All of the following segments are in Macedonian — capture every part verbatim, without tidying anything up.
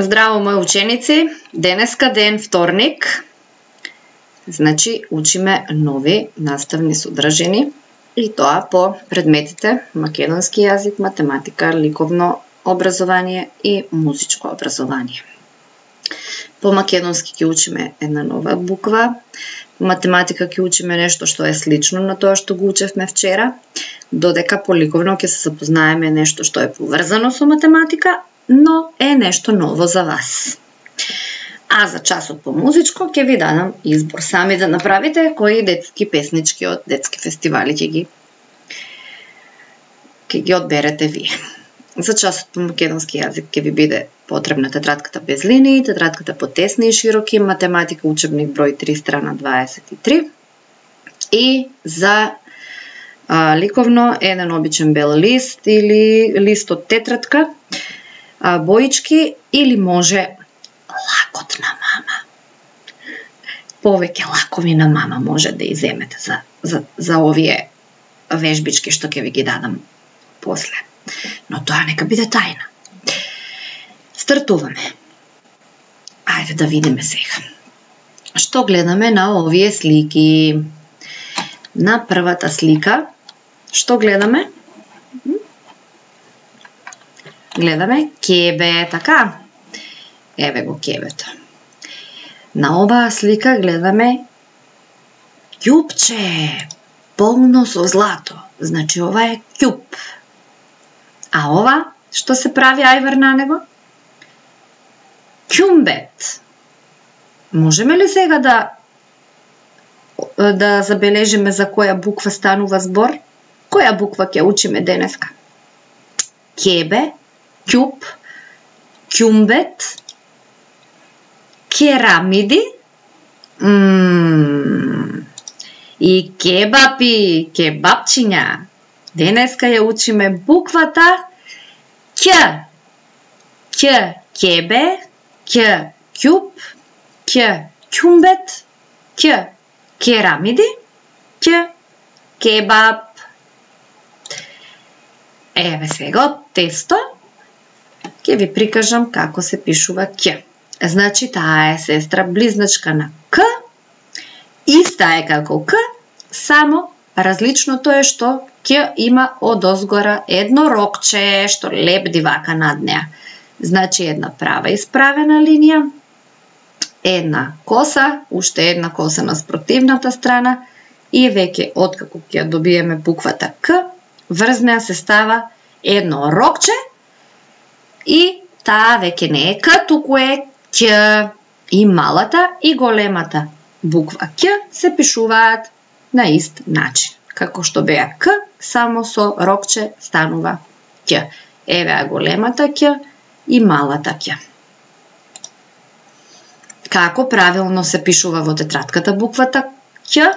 Здраво, мои ученици! Денеска ден вторник. Значи, учиме нови наставни содржини и тоа по предметите македонски јазик, математика, ликовно образование и музичко образование. По македонски ќе учиме една нова буква, по математика ќе учиме нешто што е слично на тоа што го учевме вчера, додека по ликовно ќе се запознаеме нешто што е поврзано со математика, но е нешто ново за вас. А за часот по музичко ќе ви дадам избор сами да направите кои детски песнички од детски фестивали ќе ги ќе ги одберете вие. За часот по македонски јазик ќе ви биде потребна тетрадката без линии, тетрадката по тесни и широки, математика учебник број три страна дваесет и три и за а, ликовно еден обичен бел лист или лист од тетрадка, а, боички или може лакот на мама. Повеќе лакови на мама може да иземете за, за, за овие вежбички што ќе ви ги дадам после. Но тоа нека биде тајна. Стартуваме. Ајде да видиме сега. Што гледаме на овие слики? На првата слика, што гледаме? Гледаме кебе, така? Еве го кебето. На оваа слика гледаме ќупче, полно со злато. Значи ова е ќуп. А ова, што се прави ајвар на него? Ќумбет. Можеме ли сега да да забележиме за која буква станува збор? Која буква ќе учиме денеска? Кебе, ќуп, ќумбет, керамиди, мм, и кебапи, кебапчиња. Денеска ја учиме буквата Ќ. Ќ кебе, Ќ ќуп, Ќ ќумбет, Ќ керамиди, Ќ кебап. Еве сега од тесто ќе ви прикажам како се пишува Ќ. Значи таа е сестра близначка на К, иста е како К, само различното е што Ќ има одозгора едно рокче што лепди вака над неа. Значи една права исправена линија, една коса, уште една коса на спротивната страна и веќе откако ќе добиеме буквата К, врз неа се става едно рокче и таа веќе не е К, туку е Ќ. И малата и големата буква Ќ се пишуваат на ист начин. Како што беа К, само со рокче станува Ќ. Еве големата Ќ и малата Ќ. Како правилно се пишува во тетрадката буквата Ќ?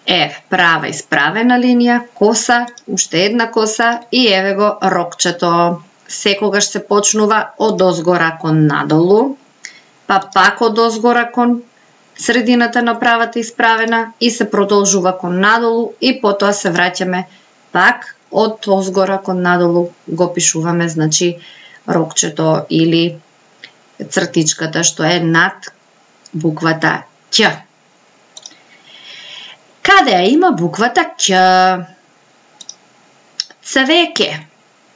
Еве, права исправена линија, коса, уште една коса и еве го рокчето. Секогаш се почнува од озгора кон надолу, па пак од озгора кон средината на правата исправена и се продолжува кон надолу и потоа се враќаме пак од озгора кон надолу го пишуваме, значи рокчето или цртичката што е над буквата Ќ. Каде ја има буквата Ќ? Цвеќе.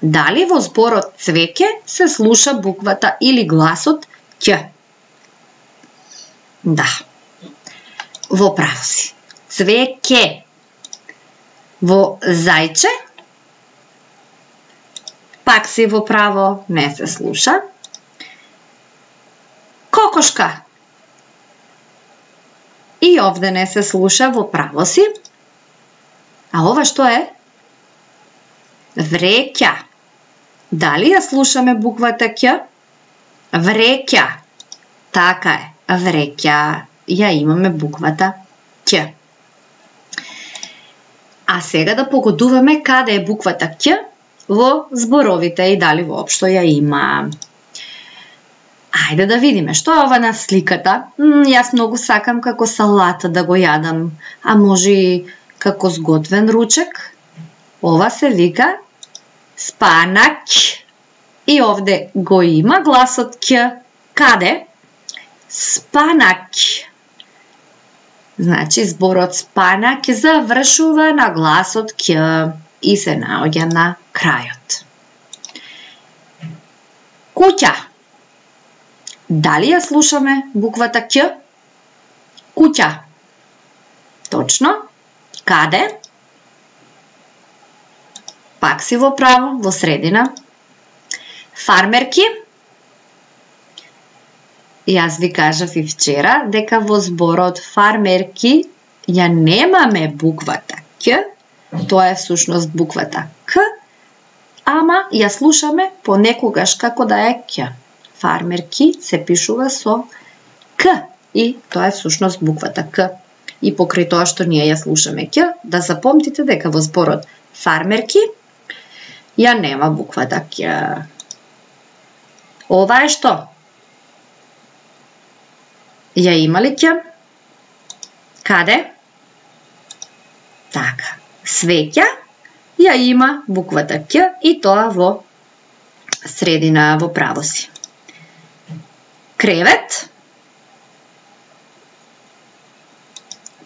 Дали во зборот цвеќе се слуша буквата или гласот Ќ? Да. Во право си. Цвеќе. Во зајче? Пак си во право, не се слуша. Кокошка. И овде не се слуша, во право си. А ова што е? Вреќа. Дали ја слушаме буквата Ќ? Вреќа. Така е. Вреќа. Ја имаме буквата Ќ. А сега да погодуваме каде е буквата Ќ во зборовите и дали воопшто ја има. Ајде да видиме што е ова на сликата. М, јас многу сакам како салата да го јадам, а може и како сготвен ручек. Ова се вика спанаќ. И овде го има гласот К. Каде? Спанак. Значи зборот спанак завршува на гласот К и се наоѓа на крајот. Куќа. Дали ја слушаме буквата Ќ? Куќа. Точно. Каде? Пак си во право, во средина. Фармерки. Јас ви кажав и вчера дека во зборот фармерки ја немаме буквата Ќ, тоа е всушност буквата К, ама ја слушаме понекогаш како да е Ќ. Фармерки се пишува со К и тоа е всушност буквата К. И покрај тоа што ние ја слушаме Ќ, да запомтите дека во зборот фармерки ја нема буквата Ќ. Ова е што? Ја има ли Ќ? Каде? Така. Свеќа ја има буквата Ќ и тоа во средина, во право си. Кревет.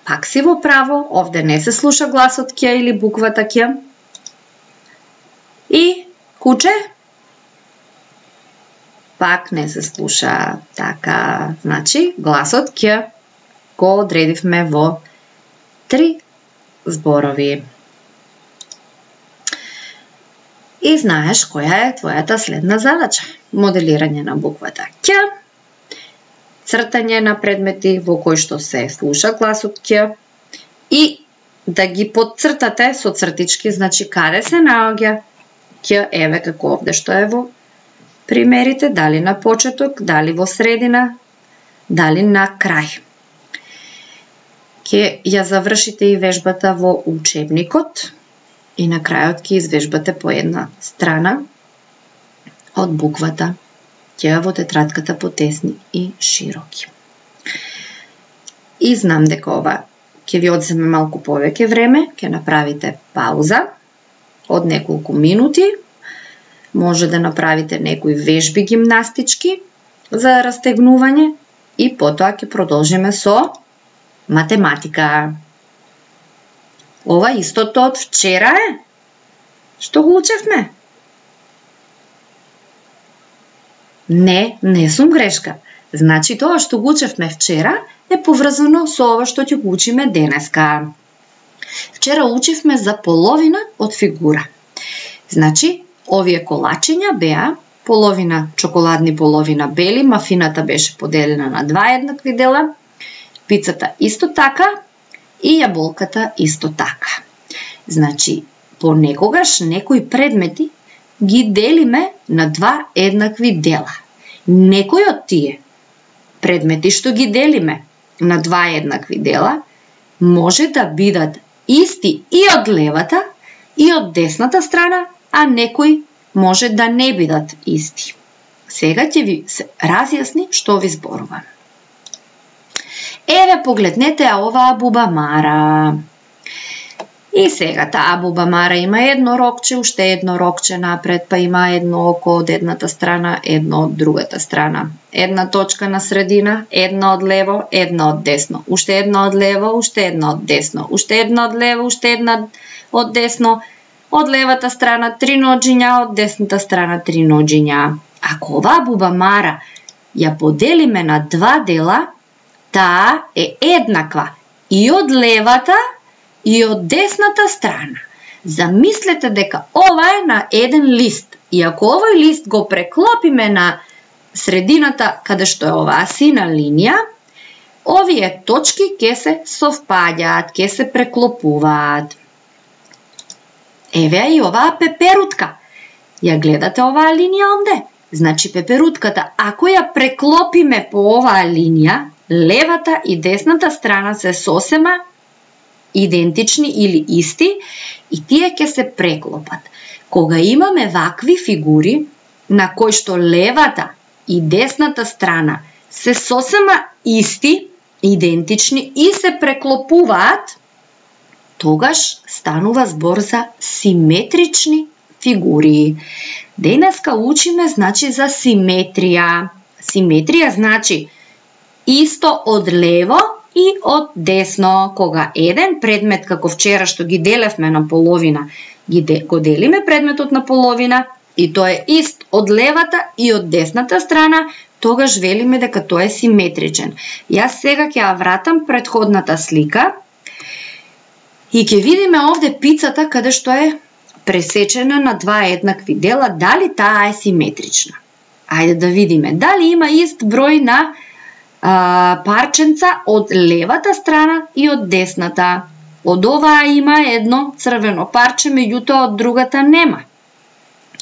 Пак си во право, овде не се слуша гласот Ќ или буквата Ќ. И куче. Пак не се слуша. Така, значи, гласот Ќ го одредивме во три зборови. И знаеш која е твојата следна задача. Моделирање на буквата Ќ, цртање на предмети во кои што се слуша гласот Ќ и да ги подцртате со цртички, значи каде се наоѓа Ќ, еве како овде што е во примерите, дали на почеток, дали во средина, дали на крај. Ке ја завршите и вежбата во учебникот и на крајот ќе извежбате по една страна од буквата Ќ во тетрадката по тесни и широки. И знам дека ова ќе ви одземе малку повеќе време, ќе направите пауза од неколку минути. Може да направите некои вежби гимнастички за растегнување и потоа ќе продолжиме со математика. Ова истото од вчера е? Што го учевме? Не, не сум грешка. Значи тоа што го учевме вчера е поврзано со ова што ќе го учиме денеска. Вчера учевме за половина од фигура. Значи, овие колачиња беа половина чоколадни, половина бели, мафината беше поделена на два еднакви дела, пицата исто така и јаболката исто така. Значи, понекогаш некои предмети ги делиме на два еднакви дела. Некои од тие предмети што ги делиме на два еднакви дела може да бидат исти и од левата и од десната страна, а некои може да не бидат исти. Сега ќе ви се разјасни што ви зборувам. Еве, погледнете оваа бубамара. И сега таа бубамара има едно рокче, уште едно рокче напред, па има едно око од едната страна, едно од другата страна. Една точка на средина, едно од лево, едно од десно. Уште едно од лево, уште едно од десно. Уште едно од лево, уште една од десно. Од левата страна три ноџиња, од десната страна три ноџиња. Ако оваа бубамара ја поделиме на два дела, таа е еднаква и од левата и од десната страна. Замислете дека ова е на еден лист. И ако овој лист го преклопиме на средината, каде што е оваа сина линија, овие точки ќе се совпаѓаат, ќе се преклопуваат. Еве и оваа пеперутка. Ја гледате оваа линија онде? Значи пеперутката, ако ја преклопиме по оваа линија, левата и десната страна се сосема идентични или исти и тие ќе се преклопат. Кога имаме вакви фигури на кои што левата и десната страна се сосема исти, идентични и се преклопуваат, тогаш станува збор за симетрични фигури. Денеска учиме значи за симетрија. Симетрија значи исто од лево и од десно. Кога еден предмет, како вчера што ги делевме на половина, ги де, го делиме предметот на половина и тој е ист од левата и од десната страна, тогаш велиме дека тој е симетричен. Јас сега ќе ја вратам претходната слика и ќе видиме овде пицата каде што е пресечена на два еднакви дела, дали таа е симетрична. Ајде да видиме дали има ист број на а, парченца од левата страна и од десната. Од оваа има едно црвено парче, меѓутоа од другата нема.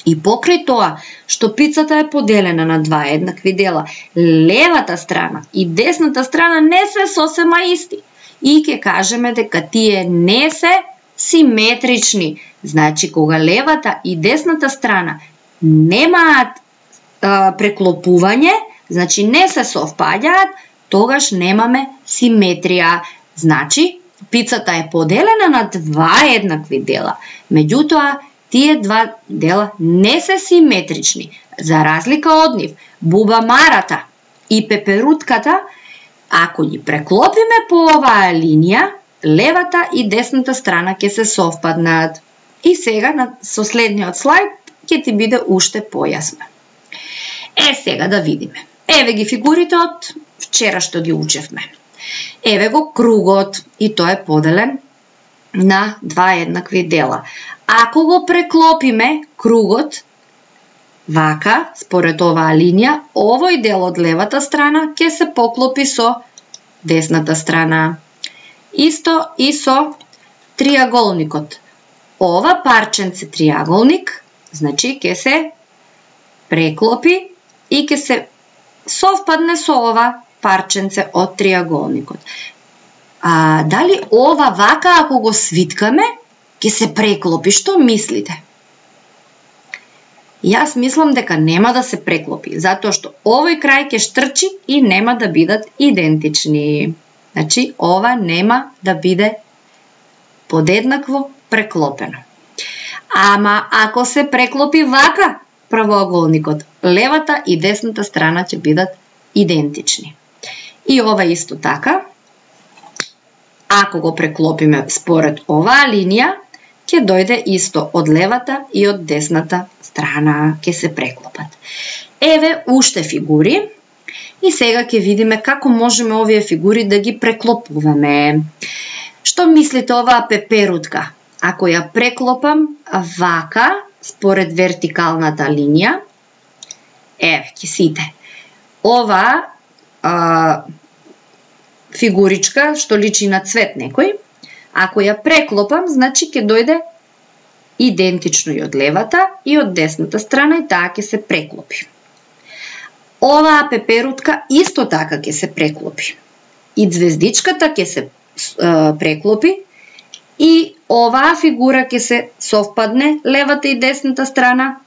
И покрај тоа што пицата е поделена на два еднакви дела, левата страна и десната страна не се сосема исти. И ќе кажеме дека тие не се симетрични. Значи, кога левата и десната страна немаат а, преклопување, значи не се совпаѓаат, тогаш немаме симетрија. Значи, пицата е поделена на два еднакви дела, меѓутоа тие два дела не се симетрични. За разлика од нив, бубамарата и пеперутката, ако ги преклопиме по оваа линија, левата и десната страна ќе се совпаднат. И сега на со следниот слайд ќе ти биде уште појасно. Е, сега да видиме. Еве ги фигурите од вчера што ги учевме. Еве го кругот и тој е поделен на два еднакви дела. Ако го преклопиме кругот вака, според оваа линија, овој дел од левата страна ќе се поклопи со десната страна. Исто и со триаголникот. Ова парченце триаголник, значи ќе се преклопи и ќе се совпадне со ова парченце од триаголникот. А дали ова вака ако го свиткаме, ќе се преклопи? Што мислите? Јас мислам дека нема да се преклопи, затоа што овој крај ќе штрчи и нема да бидат идентични. Значи, ова нема да биде подеднакво преклопено. Ама, ако се преклопи вака правоаголникот, левата и десната страна ќе бидат идентични. И ова исто така, ако го преклопиме според оваа линија, ќе дојде исто од левата и од десната страна, ќе се преклопат. Еве уште фигури. И сега ќе видиме како можеме овие фигури да ги преклопуваме. Што мислите оваа пеперутка? Ако ја преклопам вака, според вертикалната линија, еве, ќе сите. Ова а, фигуричка, што личи на цвет некој, ако ја преклопам, значи ќе дојде идентично и од левата и од десната страна и таа ќе се преклопи. Оваа пеперутка исто така ќе се преклопи. И звездичката ќе се е, преклопи и оваа фигура ќе се совпадне левата и десната страна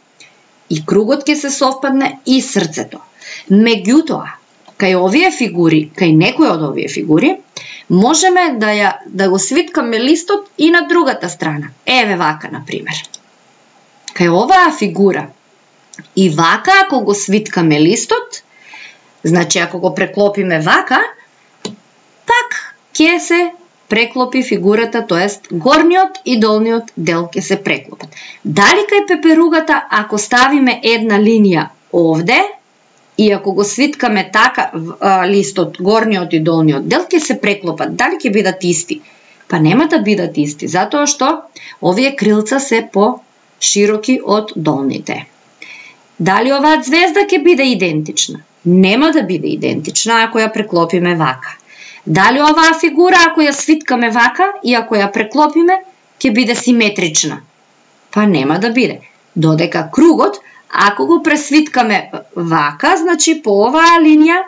и кругот ќе се совпадне и срцето. Меѓутоа, кај овие фигури, кај некој од овие фигури, можеме да ја да го свиткаме листот и на другата страна. Еве вака на пример. Кај оваа фигура и вака, ако го свиткаме листот, значи ако го преклопиме вака, пак ќе се преклопи фигурата, тоест горниот и долниот дел ќе се преклопат. Дали кај пеперугата, ако ставиме една линија овде, и ако го свиткаме така листот, горниот и долниот дел ќе се преклопат, дали ќе бидат исти? Па нема да бидат исти, затоа што овие крилца се по-широки од долните. Дали оваа звезда ќе биде идентична? Нема да биде идентична ако ја преклопиме вака. Дали оваа фигура ако ја свиткаме вака и ако ја преклопиме ќе биде симетрична? Па нема да биде. Додека кругот, ако го пресвиткаме вака, значи по оваа линија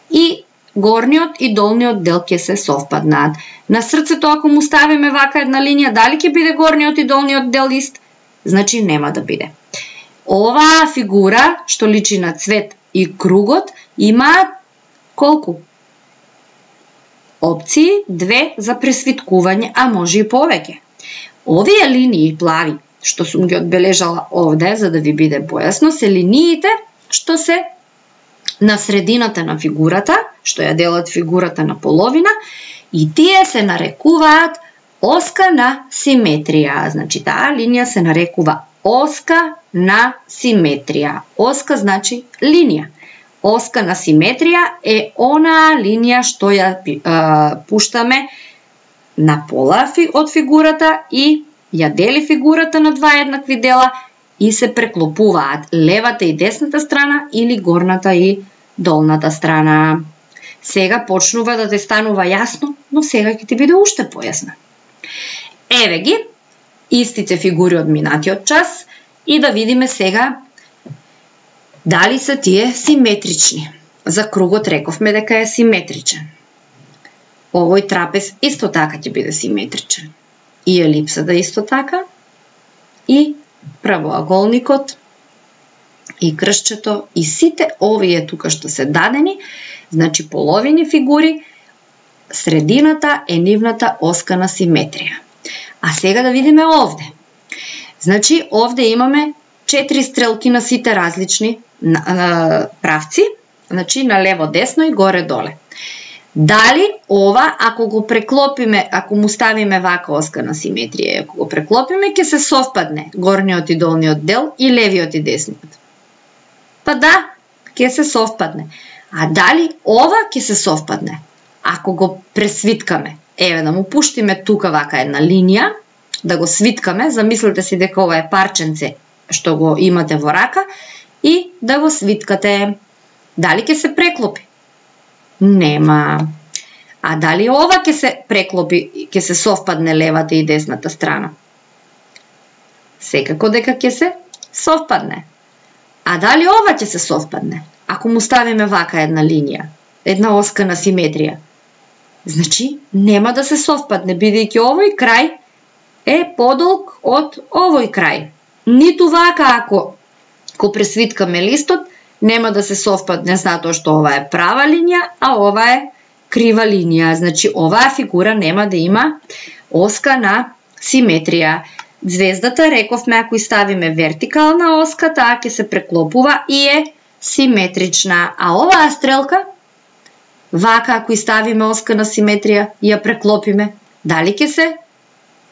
и горниот и долниот дел ќе се совпаднат. На срцето ако му ставиме вака една линија, дали ќе биде горниот и долниот дел ист? Значи нема да биде. Оваа фигура, што личи на цвет и кругот, имаат колку? Опции две за пресвиткување, а може и повеќе. Овие линии плави што сум ги одбележала овде, за да ви биде појасно, се линиите што се на средината на фигурата, што ја делат фигурата на половина, и тие се нарекуваат оска на симетрија. Значи, таа линија се нарекува оска на симетрија. Оска значи линија. Оска на симетрија е онаа линија што ја а, пуштаме на пола од фигурата и ја дели фигурата на два еднакви дела и се преклопуваат левата и десната страна или горната и долната страна. Сега почнува да те станува јасно, но сега ќе ти биде уште појасно. Еве ги истите фигури од минатиот час и да видиме сега дали се тие симетрични. За кругот рековме дека е симетричен. Овој трапез исто така ќе биде симетричен. И елипсата исто така, и правоаголникот, и кршчето, и сите овие тука што се дадени, значи половини фигури, средината е нивната оска на симетрија. А сега да видиме овде. Значи, овде имаме четири стрелки на сите различни на, на, правци, значи на лево, десно и горе-доле. Дали ова, ако го преклопиме, ако му ставиме вака оска на симетрија, ако го преклопиме, ќе се совпадне горниот и долниот дел и левиот и десниот? Па да, ќе се совпадне. А дали ова ќе се совпадне? Ако го пресвиткаме, еве да му пуштиме тука вака една линија, да го свиткаме, замислете си дека ова е парченце што го имате во рака и да го свиткате. Дали ќе се преклопи? Нема. А дали ова ќе се преклопи, ќе се совпадне левата и десната страна? Секако дека ќе се совпадне. А дали ова ќе се совпадне? Ако му ставиме вака една линија, една оска на симетрија, значи нема да се совпадне, бидејќи овој крај е подолг од овој крај. Ниту вака ако го пресвиткаме листот, нема да се совпадне затоа што ова е права линија, а ова е крива линија. Значи оваа фигура нема да има оска на симетрија. Звездата, рековме, ако ставиме вертикална оска, таа ќе се преклопува и е симетрична. А оваа стрелка, вака ако ставиме оска на симетрија и ја преклопиме, дали ќе се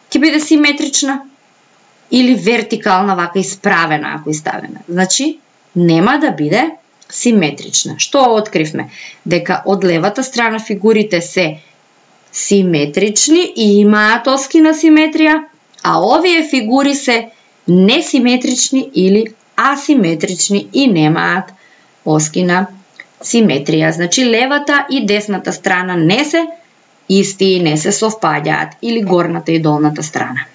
ќе биде симетрична или вертикална, вака исправена ако ставиме? Значи нема да биде симетрична. Што откривме? Дека од левата страна фигурите се симетрични и имаат оски на симетрија, а овие фигури се несиметрични или асиметрични и немаат оски на симетрија. Значи левата и десната страна не се исти и не се совпаѓаат, или горната и долната страна.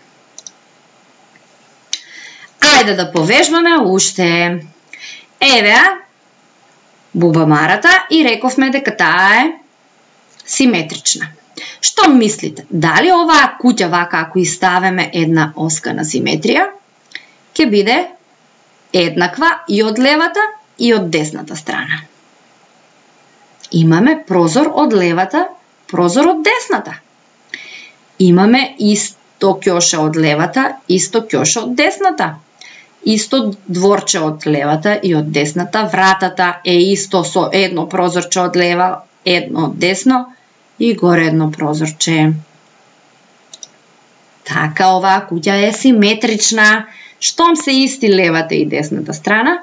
Ајде да повежбаме уште. Еве бубамарата и рековме дека таа е симетрична. Што мислите? Дали оваа куќа вака ако и ставиме една оска на симетрија, ќе биде еднаква и од левата и од десната страна? Имаме прозор од левата, прозор од десната. Имаме исто ќоше од левата, исто ќоше од десната. Исто дворче од левата и од десната. Вратата е исто со едно прозорче од лева, едно од десно и горе едно прозорче. Така, оваа куќа е симетрична. Штом се исти левата и десната страна,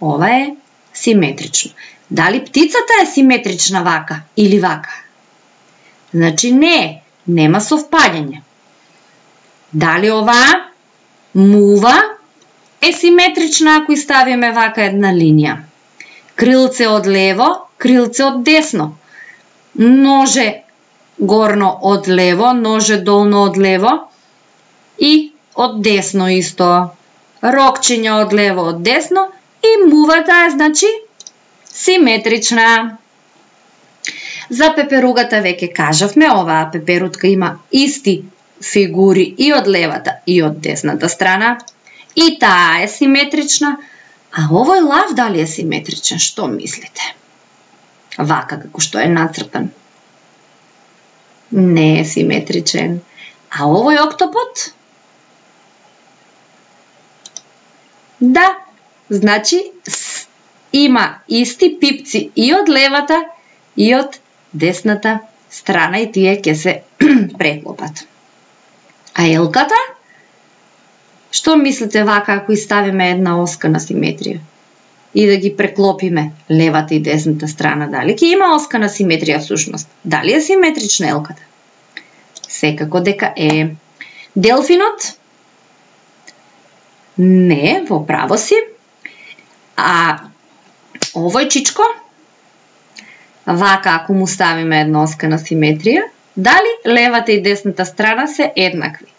ова е симетрично. Дали птицата е симетрична вака или вака? Значи не, нема совпаѓање. Дали оваа мува е симетрична ако и ставиме вака една линија? Крилце од лево, крилце од десно. Ноже горно од лево, ноже долно од лево и од десно исто. Рокчиња од лево, од десно и мувата е, значи, симетрична. За пеперугата веќе кажавме, оваа пеперутка има исти фигури и од левата и од десната страна. И таа е симетрична. А овој лав дали е симетричен? Што мислите? Вака како што е нацртан. Не е симетричен. А овој октопод? Да, значи има исти пипци и од левата и од десната страна и тие ќе се преклопат. А елката? Што мислите вака ако ставиме една оска на симетрија и да ги преклопиме левата и десната страна, дали ќе има оска на симетрија всушност? Дали е симетрична елката? Секако дека е. Делфинот? Не, во право си. А овојчичко? Вака ако му ставиме една оска на симетрија, дали левата и десната страна се еднакви?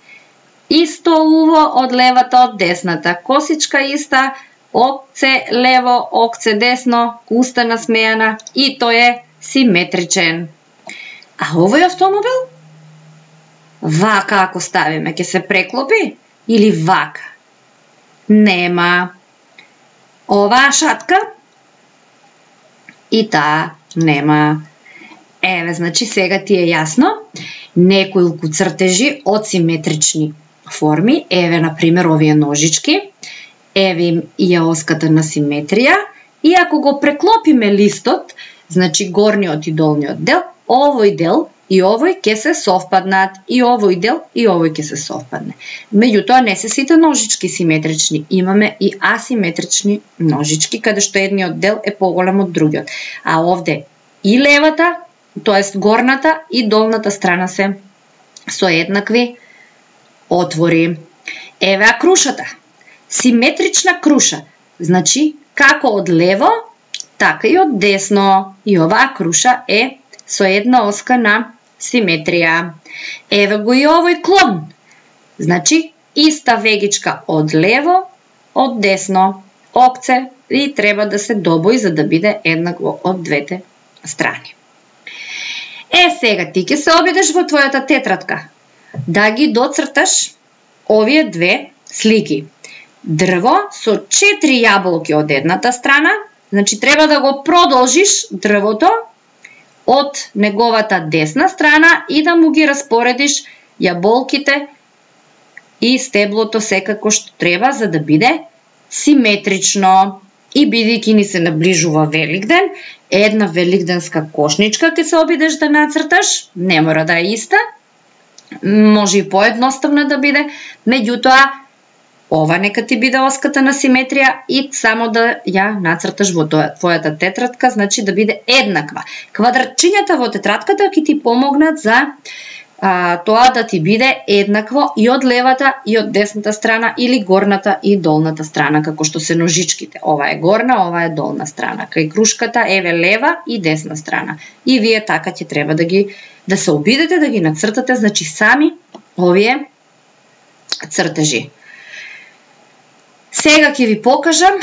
Исто уво од левата од десната, косичка иста, окце лево, окце десно, уста насмејана и тој е симетричен. А овој автомобил? Вака ако ставиме, ќе се преклопи или вака? Нема. Оваа шатка? И таа нема. Еве, значи сега ти е јасно. Неколку цртежи од симетрични форми. Еве, например, овие ножички. Еве им и ја оската на симетрија. И ако го преклопиме листот, значи горниот и долниот дел, овој дел и овој ќе се совпаднат, и овој дел и овој ќе се совпадне. Меѓутоа не се сите ножички симетрични, имаме и асиметрични ножички, каде што едниот дел е поголем од другиот. А овде и левата, тоест горната и долната страна се со еднакви отвори. Еве а крушата. Симетрична круша, значи како од лево, така и од десно. И оваа круша е со една оска на симетрија. Еве го и овој клон. Значи, иста вегичка од лево, од десно. Окце и треба да се добои за да биде еднакво од двете страни. Е, сега ти ќе се обидеш во твојата тетрадка да ги доцрташ овие две слики. Дрво со четири јаболки од едната страна, значи треба да го продолжиш дрвото од неговата десна страна и да му ги распоредиш јаболките и стеблото секако што треба за да биде симетрично. И бидејќи ни се наближува Великден, една великденска кошничка ќе се обидеш да нацрташ, не мора да е иста, може и поедноставна да биде, меѓутоа ова нека ти биде оската на симетрија и само да ја нацрташ во твојата тетрадка, значи да биде еднаква. Квадратчињата во тетрадката ќе ти помогнат за а, тоа да ти биде еднакво и од левата и од десната страна или горната и долната страна, како што се ножичките. Ова е горна, ова е долна страна. Кај крушката еве лева и десна страна. И вие така ќе треба да ги да се обидете да ги нацртате, значи сами овие цртежи. Сега ќе ви покажам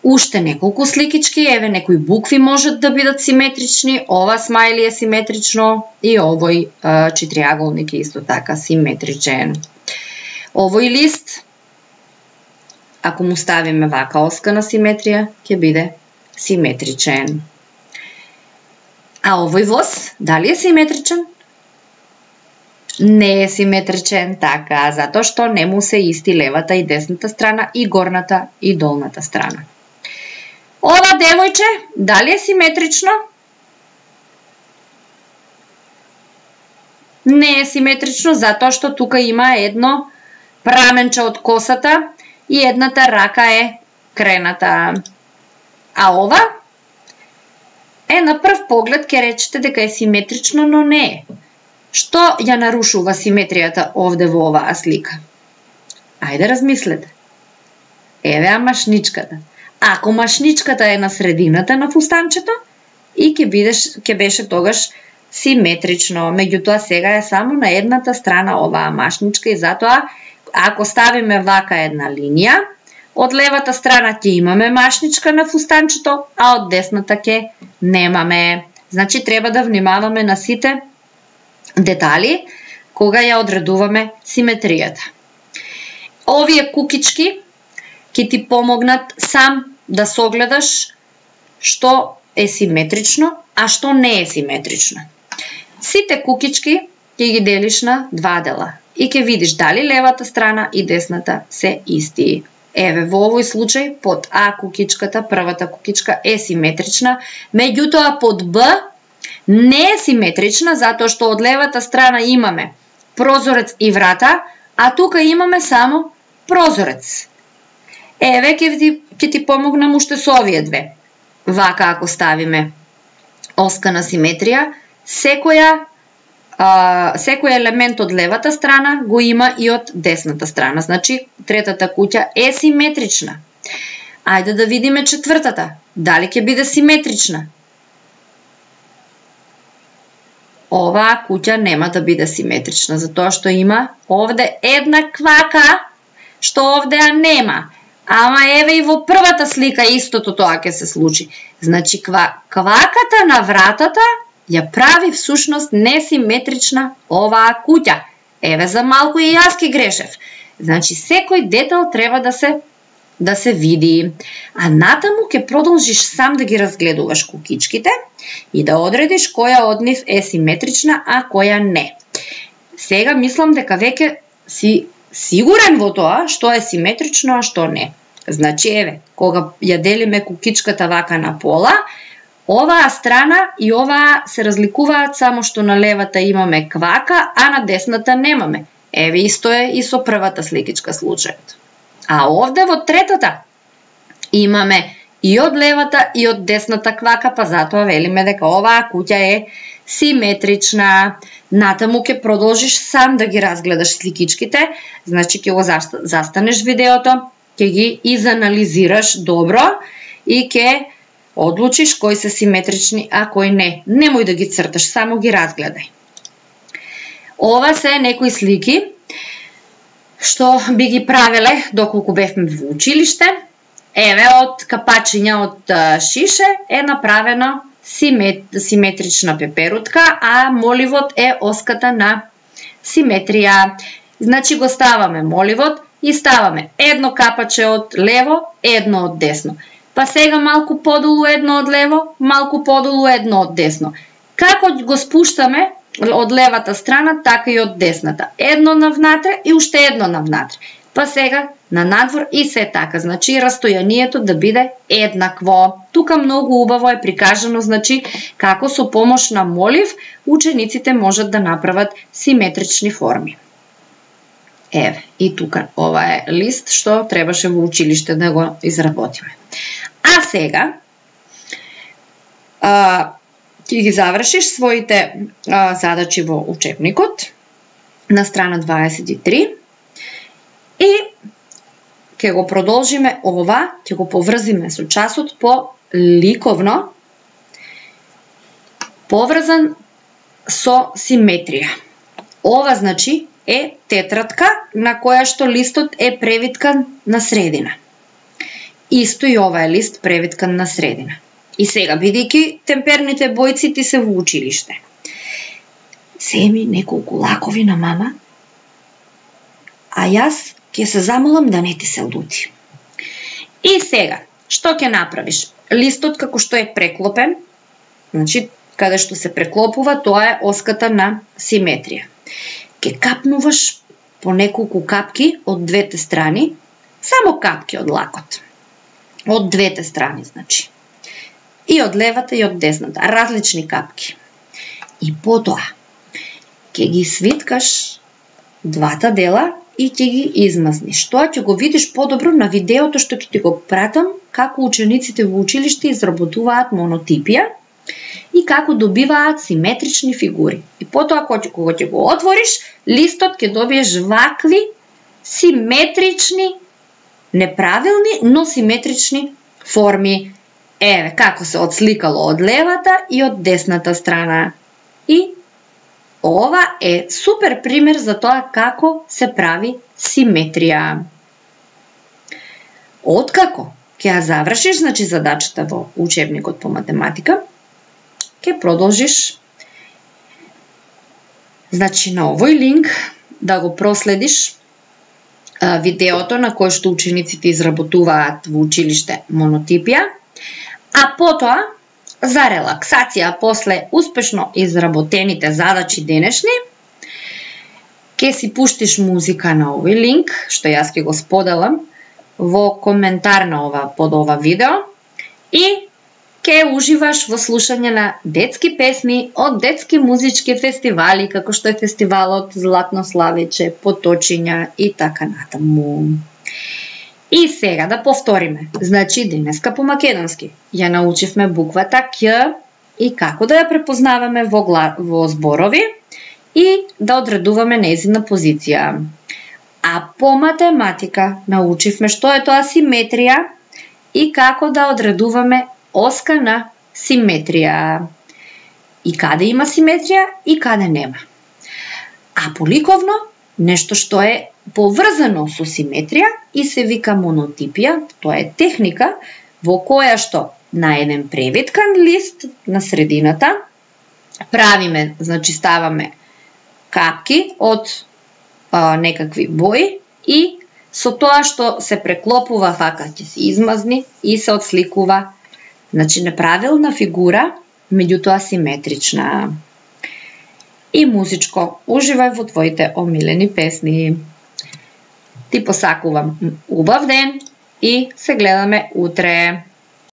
уште неколку сликички, еве некои букви можат да бидат симетрични, ова смајли е симетрично и овој а, четириаголник е исто така симетричен. Овој лист, ако му ставиме вака оска на симетрија, ќе биде симетричен. А овој воз, дали е симетричен? Не е симетричен, така, затоа што не му се исти левата и десната страна и горната и долната страна. Ова девојче, дали е симетрично? Не е симетрично, затоа што тука има едно праменче од косата и едната рака е крената. А ова? Е, на прв поглед ќе речете дека е симетрично, но не е. Што ја нарушува симетријата овде во оваа слика? Ајде размислете. Еве а машничката. Ако машничката е на средината на фустанчето, и ќе бидеш ќе беше тогаш симетрично, меѓутоа сега е само на едната страна оваа машничка и затоа ако ставиме вака една линија, од левата страна ќе имаме машничка на фустанчето, а од десната ќе немаме. Значи треба да внимаваме на сите детали кога ја одредуваме симетријата. Овие кукички ќе ти помогнат сам да согледаш што е симетрично, а што не е симетрично. Сите кукички ќе ги делиш на два дела и ќе видиш дали левата страна и десната се исти. Еве, во овој случај, под А кукичката, првата кукичка е симетрична, меѓутоа под Б не е симетрична, затоа што од левата страна имаме прозорец и врата, а тука имаме само прозорец. Еве, ќе ти, ќе ти помогнам уште со овие две. Вака, ако ставиме оска на симетрија, секоја, а, секој елемент од левата страна го има и од десната страна. Значи, третата куќа е симетрична. Ајде да видиме четвртата. Дали ќе биде симетрична? Оваа куќа нема да биде симетрична, затоа што има овде една квака, што овде ја нема. Ама еве и во првата слика истото тоа ќе се случи. Значи, ква, кваката на вратата ја прави всушност несиметрична оваа куќа. Еве, за малку и јас ки грешев. Значи, секој детал треба да се да се види. А натаму ќе продолжиш сам да ги разгледуваш кукичките и да одредиш која од нив е симетрична, а која не. Сега мислам дека веќе си сигурен во тоа што е симетрично, а што не. Значи, еве, кога ја делиме кукичката вака на пола, оваа страна и оваа се разликуваат само што на левата имаме квака, а на десната немаме. Еве, исто е и со првата сликичка случајот. А овде во третата имаме и од левата и од десната квака, па затоа велиме дека оваа куќа е симетрична. Натаму ќе продолжиш сам да ги разгледаш сликичките, значи ќе го застанеш видеото, ќе ги изанализираш добро и ќе одлучиш кои се симетрични, а кои не. Немој да ги црташ, само ги разгледај. Ова се некои слики што би ги правеле доколку бевме во училиште. Еве, од капачиња од шише е направено симет, симетрична пеперутка, а моливот е оската на симетрија. Значи, го ставаме моливот и ставаме едно капаче од лево, едно од десно. Па сега малку подолу едно од лево, малку подолу едно од десно. Како го спуштаме од левата страна, така и од десната. Едно навнатре и уште едно навнатре. Па сега на надвор и се така. Значи, растојанието да биде еднакво. Тука многу убаво е прикажано, значи, како со помош на молив, учениците можат да направат симетрични форми. Еве, и тука ова е лист што требаше во училиште да го изработиме. А сега, а, ќе ги завршиш своите а, задачи во учебникот на страна дваесет и три и ќе го продолжиме ова, ќе го поврзиме со часот по ликовно поврзан со симетрија. Ова значи е тетрадка на која што листот е превиткан на средина. Исто и ова е лист превиткан на средина. И сега, бидејќи темперните бојци ти се во училиште, семи неколку лакови на мама, а јас ќе се замолам да не ти се лути. И сега, што ќе направиш? Листот како што е преклопен, значи, каде што се преклопува, тоа е оската на симетрија. Ќе капнуваш по неколку капки од двете страни, само капки од лакот. Од двете страни, значи. И од левата и од десната, различни капки. И потоа ќе ги свиткаш двата дела и ќе ги измазниш. Тоа ќе го видиш подобро на видеото што ќе ти го пратам како учениците во училиште изработуваат монотипија и како добиваат симетрични фигури. И потоа кога ќе го отвориш, листот ќе добиеш вакви симетрични, неправилни, но симетрични форми. Еве, како се отсликало од левата и од десната страна. И ова е супер пример за тоа како се прави симетрија. Откако ќе ја завршиш, значи задачата во учебникот по математика, ќе продолжиш, значи на овој линк да го проследиш а, видеото на кој што учениците изработуваат во училиште монотипија, а потоа за релаксација после успешно изработените задачи денешни, ќе си пуштиш музика на овој линк, што јас ќе го споделам во коментар на ова под ова видео и ќе уживаш во слушање на детски песни од детски музички фестивали, како што е фестивалот Златно славиче, Поточиња и така натаму. И сега да повториме. Значи, денеска по македонски ја научивме буквата Ќ и како да ја препознаваме во, гла... во зборови и да одредуваме нејзина позиција. А по математика научивме што е тоа симетрија и како да одредуваме оска на симетрија. И каде има симетрија и каде нема. А поликовно, нешто што е поврзано со симетрија и се вика монотипија, тоа е техника во која што на еден превиткан лист на средината правиме, значи ставаме капки од а, некакви бои и со тоа што се преклопува вака ќе се измазни и се отсликува, значи неправилна фигура, меѓутоа симетрична. И музичко, уживај во твоите омилени песни. Ти посакувам убав ден и се гледаме утре.